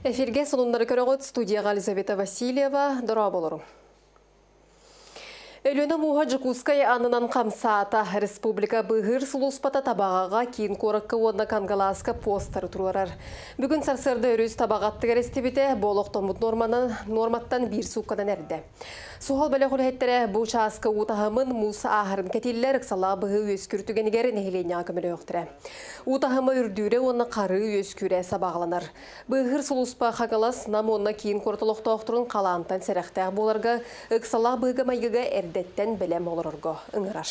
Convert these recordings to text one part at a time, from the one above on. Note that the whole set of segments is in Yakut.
Эфиргэ сонуннары көрөҕүт, студияҕа Елизавета Васильева, дорооболору. Өлүөнэ мууһа Дьокуускай аннынан хамсаата. Республика быыһыыр сулууспата Табаҕаҕа, киин куоракка уонна Кангалааска постары туруорар. Бүгүн сарсыарда өрүс Табаҕа аттыгар эстибитэ, бу олохтоммут нуорманан, нуорматтан биир суукканан эрдэ. Суһал бөлөх үлэһиттэрэ бу чааска уу таһымын, муус ааһарын кэтииллэр, ыксалаах быһыы үөскүүр түгэнигэр нэһилиэнньэҕэ көмөлөһүөхтэрэ. Уу таһыма үрдүүрэ уонна харыы үөскүүрэ сабаҕаланар. Быыһыыр сулууспа Хаҥалас, Нам уонна киин куорат олохтоохторун халаантан сэрэхтээх буоларга, ыксалаах быһыыга-майгыга эрдэттэн бэлэм олорорго ыҥырар.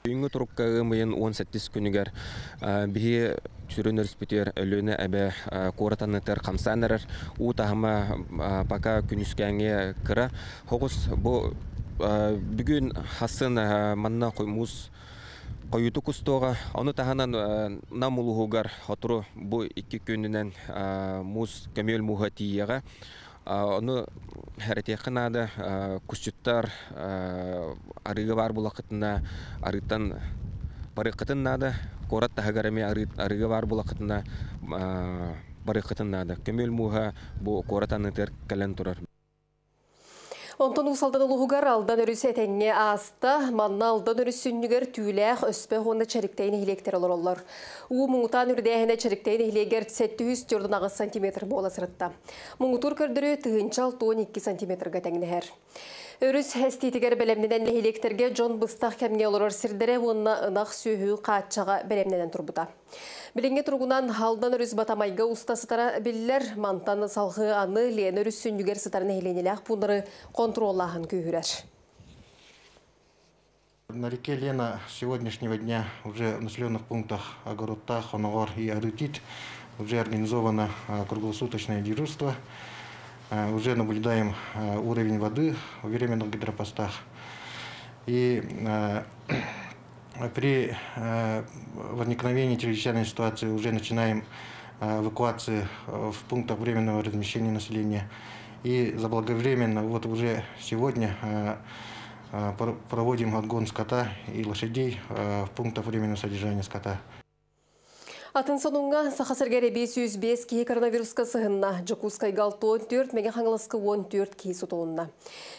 Бүгүҥҥү турукка ыам ыйын 18 күнүгэр биһи сүрүн өрүспүтүгэр Өлүөнэ эбэ куорат аннытыгар хамсаан эрэр. Уу таһыма пока күнүскээҥҥи кыра. Хоҕус бу бүгүн хасын манна муус хойутук устуоҕа. Ону таһынан Нам улууһугар сотору бу 2 күнүнэн муус көмүөл мууһа тиийиэҕэ. Ону хэрэтиэххэ наада, кусчуттар арыыга баар булаххытына арыыттан барыаххытын наада, куорат таһыгар эмиэ арыыга баар булаххытына барыаххытын наада. Көмүөл мууһа бу куорат аннытыгар кэлэн турар. Онтон Уус Алдан улууһугар Алдан өрүс этэҥҥэ ааста. Манна Алдан өрүс сүнньүгэр Түүлээх, Өспөх уонна Чэриктэй нэһилиэктэр олороллор. Уу муҥутаан үрдээһинэ Чэриктэй нэһилиэгэр 748 сантиметр буола сырытта. Муҥутуур көрдөрүү 1062 сантиметрга тэҥнэһэр. Өрүс эстиитигэр бэлэмнэнэн нэһилиэктэргэ дьон быстах кэмҥэ олорор сирдэрэ уонна ынах сүөһү хааччаҕа бэлэмнэнэн турбута. Билиҥҥи туругунан Алдан өрүс Батамайга уста сытара биллэр. Мантан салгыы аны Лена өрүс сүнньүгэр сытар нэһилиэнньэлээх пууннары контроллааһын күүһүрэр. На реке Лена с сегодняшнего дня уже в населенных пунктах Огородта, Хоногор и Арытит уже организовано круглосуточное дежурство. Уже наблюдаем уровень воды в временных гидропостах. И при возникновении чрезвычайной ситуации уже начинаем эвакуацию в пунктах временного размещения населения. И заблаговременно, вот уже сегодня проводим отгон скота и лошадей в пунктах временного содержания скота. Атын сонуҥҥа Саха сиригэр эбии 105 киһи коронавируска сыһынна. Дьокуускайга 64, Мэҥэ Хаҥаласка 14 киһи сутулунна.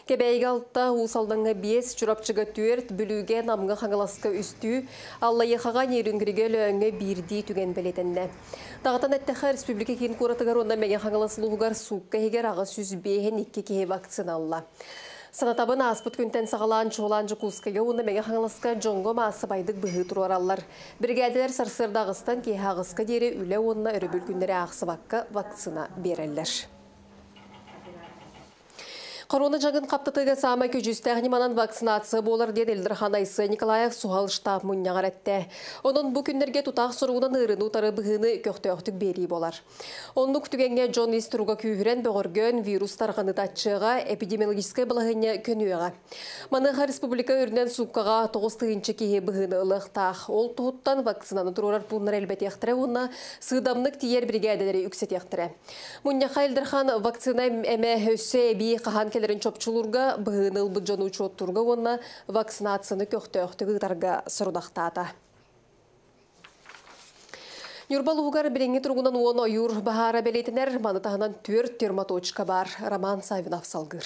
Кэбээйигэ 6, Уус Алдаҥҥа 5, Чурапчыга 4, Бүлүүгэ, Намҥа, Хаҥаласка үстүү, Аллайыахаҕа, Нерюнгригэ, Өлөөҥҥө биирдии түгэн бэлиэтэннэ. Даҕатан эттэххэ, республика киин куоратыгар уонна Мэҥэ Хаҥалас улууһугар суукка иһигэр 852 киһи вакцина ылла. Санатабын, ааспыт күнтэн саҕалаан чуолаан Дьокуускайга уонна Мэҥэ Хаҥаласка дьоҥҥо маассабайдык быһыы туруораллар. Биригээдэлэр сарсыарда аҕыстан киэһэ аҕыска диэри үлэ уонна өрөбүл күннэри аахсыбакка вакцина биэрэллэр. Корона дьаҥын хаптатыыга саамай көдьүүстээх ньыманан вакцинация буолар диэн Ил Дархан Айсен Николаев суһал штаб мунньаҕар эттэ. Онон бу күннэргэ тутаах соругунан ыарыыны утары быһыыны көхтөөхтүк биэрии буолар. Оннук түгэҥҥэ дьон ис туруга күүһүрэн, бөҕөргөөн, вирус тарҕаныыта аччыаҕа, эпидемиологическай балаһыанньа көнүөҕэ. Маныаха республика үрдүнэн сууккаҕа 9000 киһи быһыыны ылыахтаах. Ол туһуттан вакцинаны туруорар пууннары элбэтиэхтэрэ уонна сыыдамнык тиийэр биригээдэлэри үксэтиэхтэрэ. Мунньахха Ил Дархан вакцина эмэ өссө эбии хаһан кэлэрин чопчулуурга, быһыыны ылбыт дьону учуоттуурга уонна вакцинацияны көхтөөхтүк ыытарга сорудахтаата. Ньурба улууһугар билиҥҥи туругунан 10 ойуур баһаара бэлиэтэнэр, маны таһынан 4 термоточка баар. Роман Саввинов салгыыр.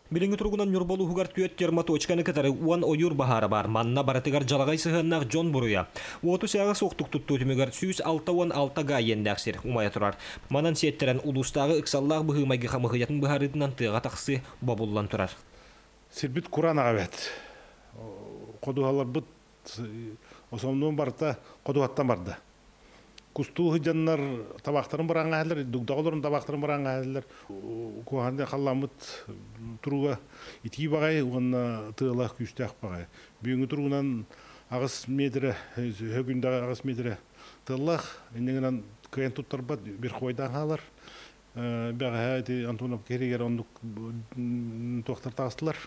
Билиҥҥи туругунан Ньурба улууһугар 4 термоточканы кытары 10 ойуур баһаара баар. Манна барытыгар дьалаҕай сыһыаннаах дьон буруйа. Уоту сээҕэ суохтук туттуу түмүгэр 166 га иэннээх сир умайа турар. Манан сиэттэрэн улуустааҕы ыксаллаах быһыы-майгы хамыыһыйатын быһаарыытынан тыаҕа тахсыы бобуллан турар. Сирбит кураан аҕа эбээт. Ходуһаларбыт основном барыта ходуһаттан барда. Кустуу сылдьаннар табаахтарын бырааҥҥа дугдаҕа олорон табаахтарын бырааҥҥа куһаҕан халлааммыт туруга итии баҕайы уонна тыала күүстээх баҕайы. Бүгүҥҥү туругунан 8 метрэ, höгүндэҕэ 8 метрэ тыаллаах, инньэ гынан кыайан туттарбат верховойдаан хаалар. Бэҕэһээ ити Антоновка киһигэр оннук туохтар таҕыстылар.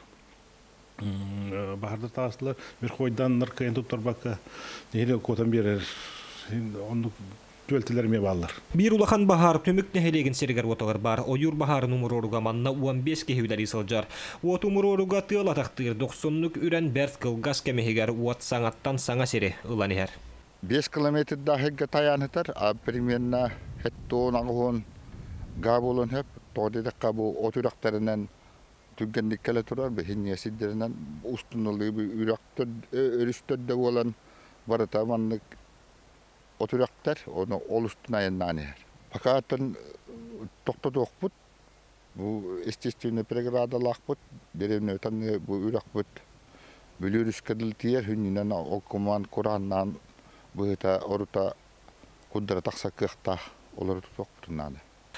Баһардар таҕыстылар. Верховойдааннар кыайан туттарбакка нэһилиэк куотан биэрэр оннук түбэлтэлэр эмиэ бааллар. Биир улахан баһаар Түмүк нэһилиэгин сиригэр-уотугар баар ойуур баһаарын умуруоруга манна 15 киһи үлэлии сылдьар. Уоту умуруоруга тыал атахтыыр дохсуннук үрэн бэрт кылгас кэм иһигэр уот саҥаттан саҥа сири ылан иһэр. 5 километрдаах тайаан сытар, а примерно 78 га буолуон сөп. Тоҕо диэтэххэ, бу от үрэхтэринэн түргэнник кэлэ турар, биһиги сирдэринэн устуналыы үрэхтэр, өрүс төрдө буолан барыта маннык от үрэхтэр, ону ол устун айаннаан иһэр. Пока тохтотуохпут, бу естественный преградалаахпыт, деревнятан бу үрэхпит Бүлүү өрүскэ дылы тиийэр, хүннүнэн ол кумаан курааннаан быһыта орута курдара тахсар кыахтаах, олору тутуохпутун наада.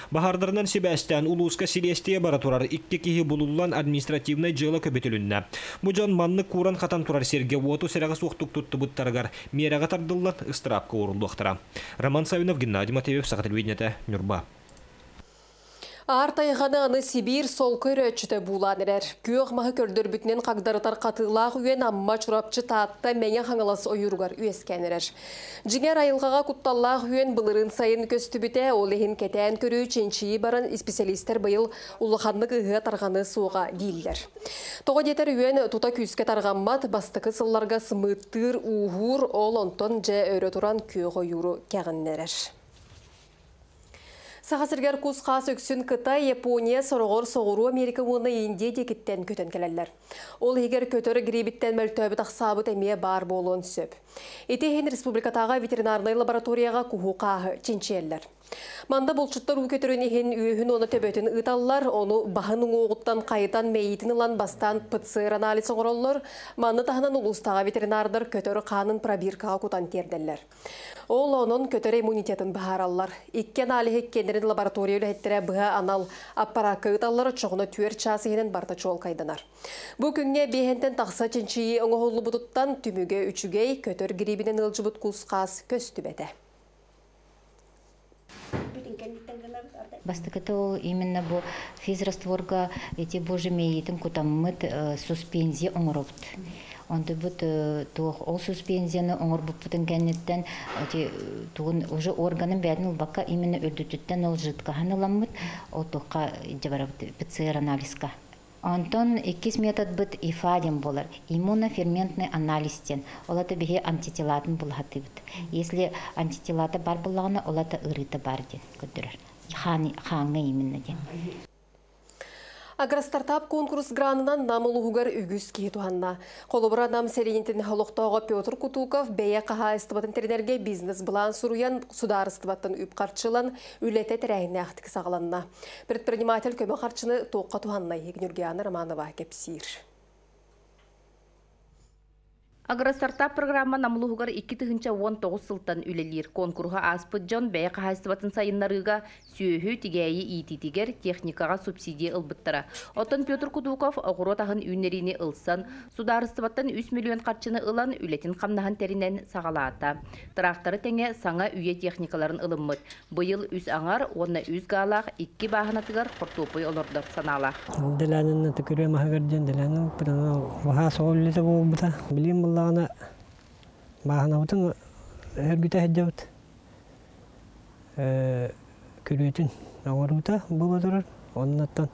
Баһаардарынан сибээстээн улууска силиэстийэ бара турар, 2 киһи булуллан административнай дьыала көбүтүлүннэ. Бу дьон маннык кууран хатан турар сиргэ уоту сэрэҕэ суохтук туттубуттарыгар миэрэҕэ тардыллан ыстыраапка ууруллуохтара. Роман Савинов, Геннадий Матвеев, Саха телевидениетэ, Ньурба. Аар тайҕаны аны Сибиир солко өрөөччүтэ буулаан эрэр. Күөх маһы көрдөрбүтүнэн хагдарытар хатыылаах үөн Амма, Чурапчы, Таатта, Мэҥэ Хаҥалас ойууругар үөскээн эрэр. Дьиҥэр, айылҕаҕа кутталлаах үөн былырыын сайын көстүбүтэ, ол иһин кэтээн көрүү, чинчийии баран исписэлиистэр быйыл улаханнык ыһыа тарҕаныа суоҕа дииллэр. Тоҕо диэтэр үөн тута күүскэ тарҕаммат, бастакы сылларга сымыыттыыр, ууһуур, ол онтон дьэ өрө туран күөх ойууру кэҕиннэрэр. Саха сиригэр кус-хаас үксүн Кытай, Япония, сороҕор Соҕуруу Америка уонна Индия диэкиттэн көтөн кэлэллэр. Ол иһигэр көтөр грибиттэн мөлтөөбүт ахсаабыт эмиэ баар буолуон сөп. Ити иһин республикатааҕы ветеринарнай лабораторияҕа куһу-хааһы чинчийэллэр. Манна булчуттар уу көтөрүн иһин үөһүн уонна төбөтүн ыыталлар, ону баһын уҥуоҕуттан хайытан мэйиитин ылан бастаан ПЦР-анализ оҥороллор. Манна таһынан улуустааҕы ветеринардар көтөр хаанын пробиркаҕа кутан тиэрдэллэр. Ол онон көтөр иммунитетын быһаараллар. Икки аналиһы иккиэннэрин лаборатория үлэһиттэрэ быһа анал аппараакка ыыталлар, оччоҕуна 4 чаас иһинэн барыта чуолкайданар. Бу күҥҥэ биэһэнтэн тахса чинчийии оҥоһуллубутуттан түмүгэ үчүгэй, көтөр грибинэн ыалдьыбыт кус-хаас көстүбэтэ. Бастакыта ол именно бу физрастворга эти божий мэйиитин кутаммыт суспензия оҥоробут. Онтубут туох ол суспензияны оҥорбуппутун кэнниттэн эти тугун уже органын бэйэтин ылбакка именно үрдүтүттэн ол жидкоһын ыламмыт ол туохха дьабарабыт ПЦР анализка. Онтон иккис методбыт ИФА диэн буолар. Иммуноферментный анализ диэн. Ол ата биһи антителатын булаһатыбыт. Если антителата бар буллаҕына, ол ата ырыыта бар диэн көрдөрөр. Хааҥҥа именно диэн. Агростартап конкурс гранынан Нам улууһугар үгүс киһи туһанна. Холобура, Нам сэлиэнньэтин олохтооҕо Петр Кутуков бэйэ хаһаайыстыбатын тэринэргэ бизнес-былаан суруйан, судаарыстыбаттан үп харчылан, үлэтэ тэрээһиннээхтик саҕаланна. Предприниматель көмө харчыны туохха туһаннай? Нюргиана Романова кэпсиир. Агростартап программа Нам улууһугар 2019 сылтан үлэлиир. Конкурһу ааспыт дьон бэйэ хаһаайыстыбатын сайыннарыыга, сүөһү, тигээйи иитиитигэр, техникаҕа субсидия ылбыттара. Оттон Петр Кутуков оҕуруот аһын үүннэриини ылсан, судаарыстыбаттан 3 миллион харчыны ылан, үлэтин-хамнаһын тэринэн саҕалаата. Тыраахтары тэҥэ саҥа үйэ техникаларын ылыммыт. Быйыл үс аҥар уонна үс гаалаах икки бааһынатыгар хортуоппуй олордор санаалаах. Дэлээнин төкүрүө маһыгар диэн дэлээнин баһаа соҕул үлэтэ буолбута. Билигин буллаҕына бааһынабытын өргүтэ сылдьабыт. Күрүөтүн оҥоруута буола турар. Оннуттан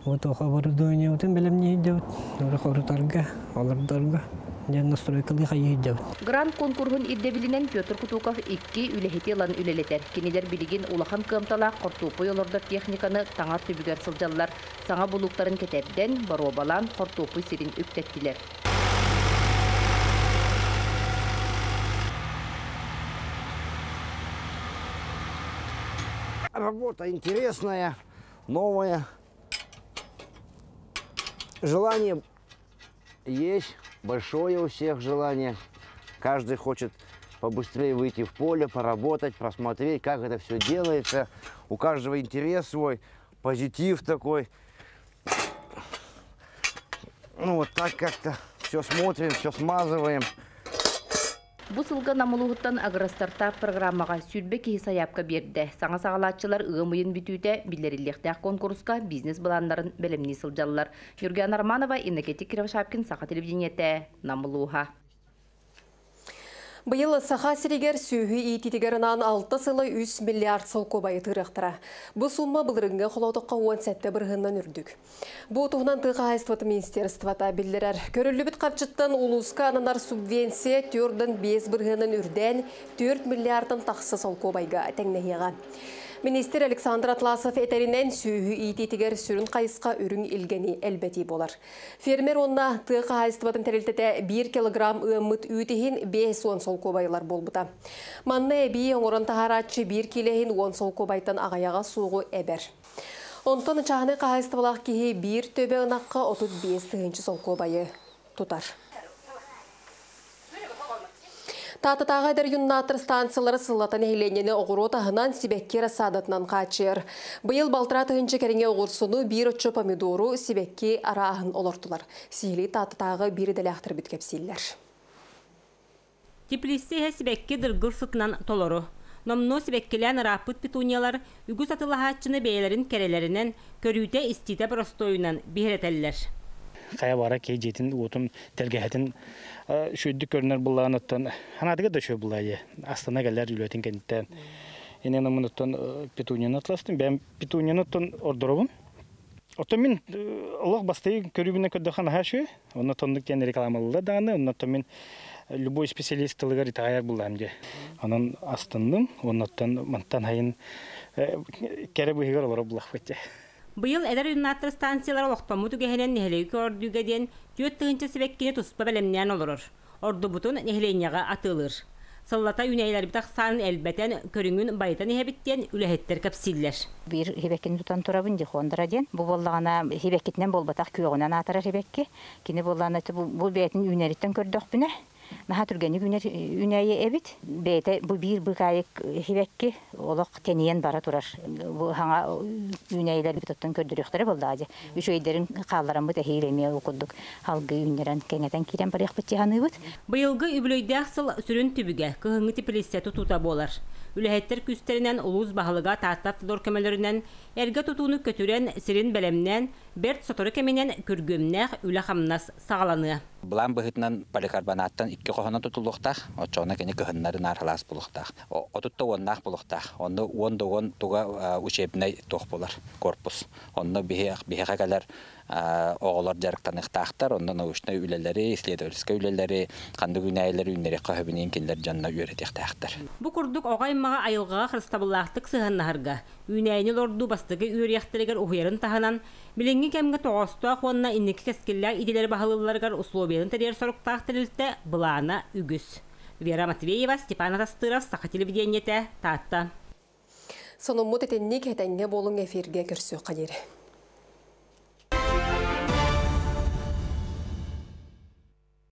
вот оборудованиебытын бэлэмнии сылдьабыт. Хорутарга, олордорго диэн настройкалыы хайыы сылдьабыт. Грант конкурһун ирдэбилинэн Петр Кутуков икки үлэһити ылан үлэлэтэр. Кинилэр билигин улахан кыамталаах хортуоппуй олордор техниканы таҥар түбүгэр сылдьаллар. Саҥа булууктарын кэтэрдэн, боруобалаан хортуоппуй сирин үктэттилэр. Работа интересная, новая. Желание есть, большое у всех желание. Каждый хочет побыстрее выйти в поле, поработать, просмотреть, как это все делается. У каждого интерес свой, позитив такой. Ну вот так как-то все смотрим, все смазываем. Бу сылга Нам улууһуттан Агростартап программаҕа 20 киһи сайаапка биэрдэ. Саҥа саҕалааччылар ыам ыйын бүтүүтэ биллэриллиэхтээх конкурска бизнес-былааннарын бэлэмнии сылдьаллар. Юргиана Романова, Иннокентий Кривошапкин, Саха телевидениетэ, Нам улууһа. Быйыл Саха сиригэр сүөһү иитиитигэр анаан алта сыла 3 миллиард солкуобайы тыырыахтара. Бу сумма былырыыҥҥы холоотоххо 17 бырыһыанынан үрдүк. Бу туһунан тыа хаһаайыстыбатын министерствота биллэрэр. Көрүллүбүт харчыттан улууска ананар субвенция 4,5 бырыһыанынан үрдээн 4 миллиардтан тахса солкуобайга тэҥнэһиэҕэ. Министр Александр Атласов этэринэн, сүөһү иитиитигэр сүрүн хайысха үрүҥ илгэни элбэтии буолар. Фермер уонна тыа хаһаайыстыбатын тэрилтэтэ 1 килограмм ыаммыт үүт иһин 50 солкуобай ылар буолбута. Манна эбии оҥорон таһаарааччы 1 киилэ иһин 10 солкуобайтан аҕыйаҕа суоҕу эбэр. Онтон чааһынай хаһаайыстыбалаах киһи 1 төбө ынахха 35 тыһыынча солкуобайы тутар. Тааттатааҕы эдэр юннаттар станциялара сыллата нэһилиэнньэни оҕуруот аһынан, сибэкки рассадатынан хааччыйар. Быйыл 6,5 тыһыынча кэриҥэ оҕурсуну, биир оччо помидору, сибэкки арааһын олортулар. Сиһилии Тааттатааҕы биир идэлээхтэрбит кэпсииллэр. Теплица иһэ сибэкки дыргыл сытынан толору. Номнуо сибэккилээн ырааппыт петуниялар үгүс атыылаһааччыны бэйэлэрин кэрэлэринэн, көрүүтэ-истиитэ боростуойунан биһирэтэллэр. Хайа баҕарар киһи дьиэтин уотун тэлгэһэтин үчүгэйдик көрүнэр буоллаҕына, санаатыгар да үчүгэй буоллаҕа, астына кэлэр үлэтин кэнниттэн. Инэн омунуттан петунияны атыыластым. Бэйэм петунияны оттон ордоробун. Оттон мин олох бастакы көрүүбүнэн көрдөххө наһаа үчүгэй. Онно тоннук диэн рекламалыыллар даҕаны, оннуттан мин любой специалист тылыгар итэҕэйэр буоллаҕым дии. Онон астынным, оннуттан мантан сайын кэрэ быыһыгар олорор буоллахпыт дии. Быйыл эдэр юннаттар станциялара олохтоммут үгэһинэн нэһилиэги көҕөрдүүгэ диэн 4000 сибэккини туспа бэлэмнээн олорор. Ордубутун нэһилиэнньэҕэ атыылыыр. Сыллата үүнээйилэрбит ахсаанын элбэтэн, көрүҥүн байытан иһэбит диэн үлэһиттэр кэпсииллэр. Биир сибэккини тутан турабын, дихондра диэн. Бу буоллаҕына сибэккитинэн буолбатах, күөҕүнэн аатырар сибэкки. Кини буоллаҕына бу бэйэтин үүнэриттэн көрдөхпүнэ, наһаа түргэнник үүнэр үүнээйи эбит. Бэйэтэ бу биир быыкаайык сибэкки олох тэнийэн бара турар. Бу саҥа үүнээйилэрбит оттон көрдөрүөхтэрэ буоллаҕа дии. Үчүгэйдэрин хааллараммыт эһиил эмиэ ол курдук салгыы үүннэрэн кэҥэтэн киирэн барыахпыт дии саныыбыт. Быйылгы үбүлүөйдээх сыл сүрүн түбүгэ кыһыҥҥы теплица тутуута буолар. Үлэһиттэр күүстэринэн, улуус баһылыга, Тааттаавтодор көмөлөрүнэн эргэ тутууну көтүрэн, сирин бэлэмнээн, бэрт сотору кэминэн күргүөмнээх үлэ-хамнас саҕаланыа. Былаан быһыытынан поликарбонаттан икки хоһунан тутуллуохтаах, оччоҕуна кини кыһыннары наар сылаас буолуохтаах. 30 да уоннаах буолуохтаах. Онно 10 да 10 туга учебнай туох буолар, корпус. Онно биһиэхэ кэлэр оҕолор дьарыктаныахтаахтар, онно научнай үлэлэри, исследовательскай үлэлэри, ханнык үүнээйилэри үүннэриэххэ сөбүн кинилэр дьонно үөрэтиэхтээхтэр. Бу курдук оҕо аймаҕы айылҕаҕа харыстабыллаахтык сыһыаннаһарга, үүнээйини олордуу бастакы үөрүйэхтэригэр уһуйарын таһынан, билиҥҥи кэмҥэ тоҕоостоох уонна инники кэскиллээх идэлэри баһылыылларыгар условиятын тэрийэр соруктаах тэрилтэ былаана үгүс. Вера Матвеева, Степан Атастыров, Саха телевидениетэ, Таатта. Сонуммут итинник. Этэҥҥэ буолуҥ, эфиргэ көрсүөххэ диэри.